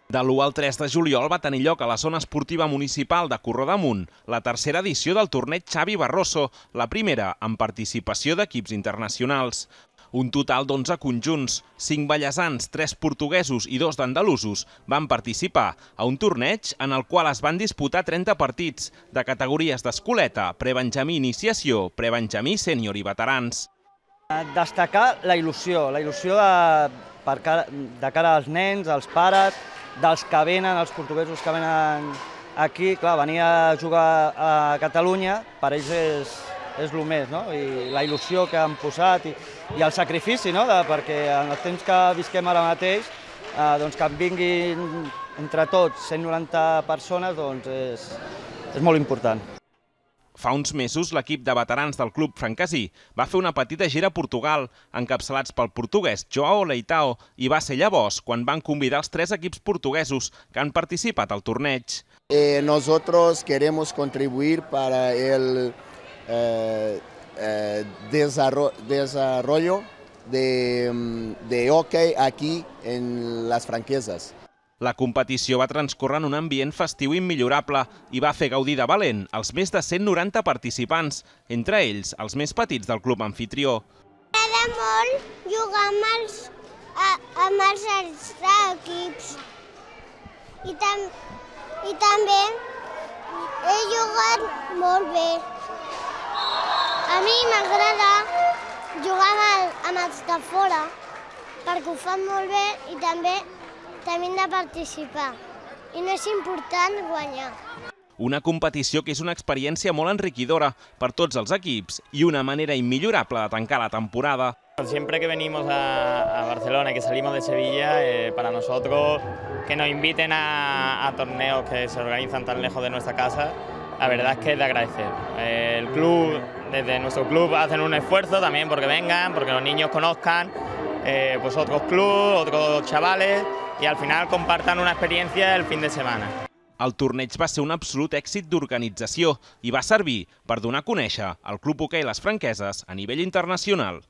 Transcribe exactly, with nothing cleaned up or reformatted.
De l'u al tres de juliol va tenir lloc a la zona esportiva municipal de Corrodamunt la tercera edició del torneig Xavi Barroso, la primera amb participació d'equips internacionals. Un total d'onze conjunts, cinc ballesans, tres portuguesos i dos d'andalusos van participar a un torneig en el qual es van disputar trenta partits de categories d'escoleta, prebenjamí iniciació, prebenjamí sènior i veterans. Destacar la il·lusió, la il·lusió de, per cara, de cara als nens, als pares, dels que venen, els portuguesos que venen aquí. Clar, venir a jugar a Catalunya per ells és, és el més, no? I la il·lusió que han posat i, i el sacrifici, no? De, perquè en els temps que visquem ara mateix, eh, doncs que en vinguin entre tots cent noranta persones doncs és, és molt important. Fa uns mesos, l'equip de veterans del club francasí va fer una petita gira a Portugal, encapçalats pel portuguès Joao Leitao, i va ser llavors quan van convidar els tres equips portuguesos que han participat al torneig. Eh, nosotros queremos contribuir para el eh, eh, desarrollo, desarrollo de, de hockey aquí en las franquesas. La competició va transcórrer en un ambient festiu immillorable i va fer gaudir de valent els més de cent noranta participants, entre ells els més petits del club anfitrió. M'agrada molt jugar amb els, a, amb els altres equips I, tam, i també he jugat molt bé. A mi m'agrada jugar amb, el, amb els de fora perquè ho fan molt bé i també també hem de participar, i no és important guanyar. Una competició que és una experiència molt enriquidora per tots els equips i una manera immillorable de tancar la temporada. Siempre que venimos a, a Barcelona y que salimos de Sevilla, eh, para nosotros que nos inviten a, a torneos que se organizan tan lejos de nuestra casa, la verdad es que es de agradecer. Eh, el club, desde nuestro club hacen un esfuerzo también porque vengan, porque los niños conozcan eh, pues otros clubes, otros chavales, i al final compartan una experiència el fin de setmana. El torneig va ser un absolut èxit d'organització i va servir per donar a conèixer el Club Hoquei Les Franqueses a nivell internacional.